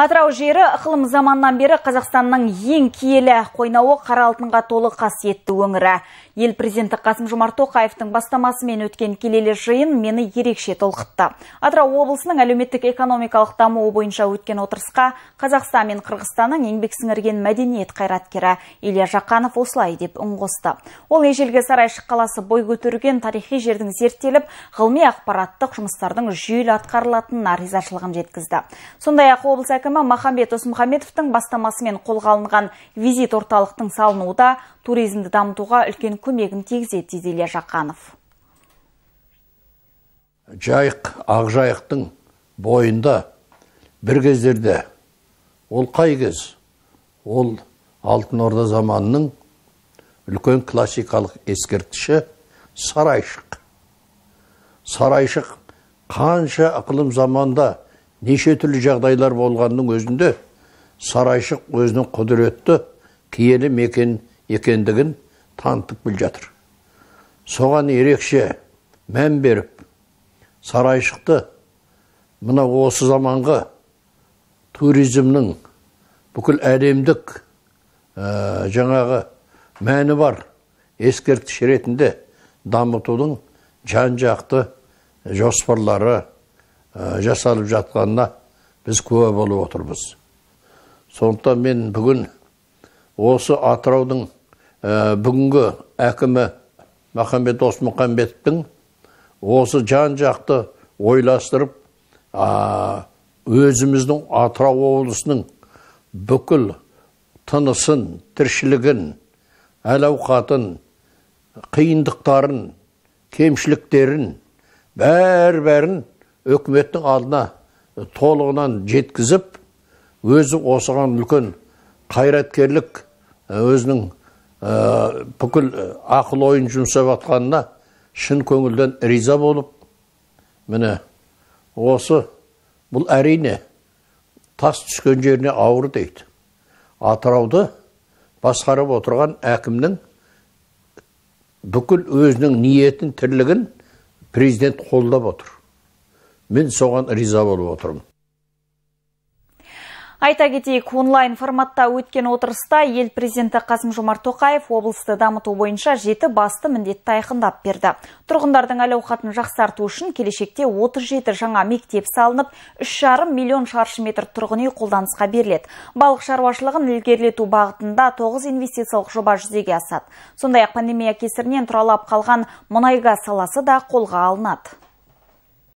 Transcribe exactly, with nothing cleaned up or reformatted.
Атырау жері ықылым заманнан бері Қазақстанның ең киелі қойнауы қара алтынға толы қасиетті өңірі. Ел президенті Қасым-Жомарт Тоқаевтың бастамасымен өткен келелі жиын мені ерекше толқытты. Атырау облысының әлеуметтік экономикалық дамуы бойынша өткен отырысқа Қазақстан мен Қырғызстанның еңбек сіңірген мәдениет қайраткері Илья Жақанов осылай деп үн қосты. Ол ежелгі Сарайшық қаласы бой көтерген тарихи жердің зерттеліп, ғылыми ақпараттық жұмыстардың жүйелі атқарылатынына ризашылығын жеткізді. Сондай-ақ облыс әкімі Махамбет Досмұхамбетовтің бастамасымен қолға алынған визит орталықтың салынуында туризмді дамытуға үлкен көмегін тигізеді дейді Илья Жақанов. Жайық, Ақжайықтың бойында бір кездерде, ол қай кез? Ол Алтын Орда заманының үлкен классикалық ескерткіші Сарайшық. Сарайшық қанша ықылым заманда неше түрлі жағдайлар болғанның өзінде Сарайшық өзінің құдіретті киелі мекен екендігін танытып біл жатыр. Соған ерекше мән беріп, Сарайшықты мына осы заманғы туризмнің бүкіл әлемдік ә, жаңағы мәні бар ескерткіш ретінде дамытудың жан-жақты жоспарлары ә, жасалып жатқанына біз куә болып отырмыз. Сондықтан мен бүгін осы Атыраудың ә, бүгінгі әкімі Махамбет Досмұхамбетовтің осы жан-жақты ойластырып, ә, өзіміздің Атырау облысының бүкіл тынысын, тіршілігін, әл-ауқатын, қиындықтарын, кемшіліктерін, бәр-бәрін өкіметтің алдына толығынан жеткізіп, өзі осыған үлкен қайраткерлік өзінің ә, бүкіл ақыл ойын жұмсап атқанына шын көңілден риза болып, міне осы бұл әрине тас түскен жеріне ауыр дейді. Атырауды басқарып отырған әкімнің бүкіл өзінің ниетін, тірлігін президент қолдап отыр. Мен соған риза болып отырмын. Айта кетейік, онлайн форматта өткен отырыста ел президенті Қасым-Жомарт Тоқаев облысты дамыту бойынша жеті басты міндетті айқындап берді. Тұрғындардың әл-ауқатын жақсарту үшін келешекте отыз жеті жаңа мектеп салынып, үш жарым миллион шаршы метр тұрғын үй қолданысқа беріледі. Балық шаруашылығын ілгерілету бағытында тоғыз инвестициялық жоба жүзеге асады. Сондай-ақ пандемия кесірінен тұралап қалған мұнай-газ саласы да қолға алынады.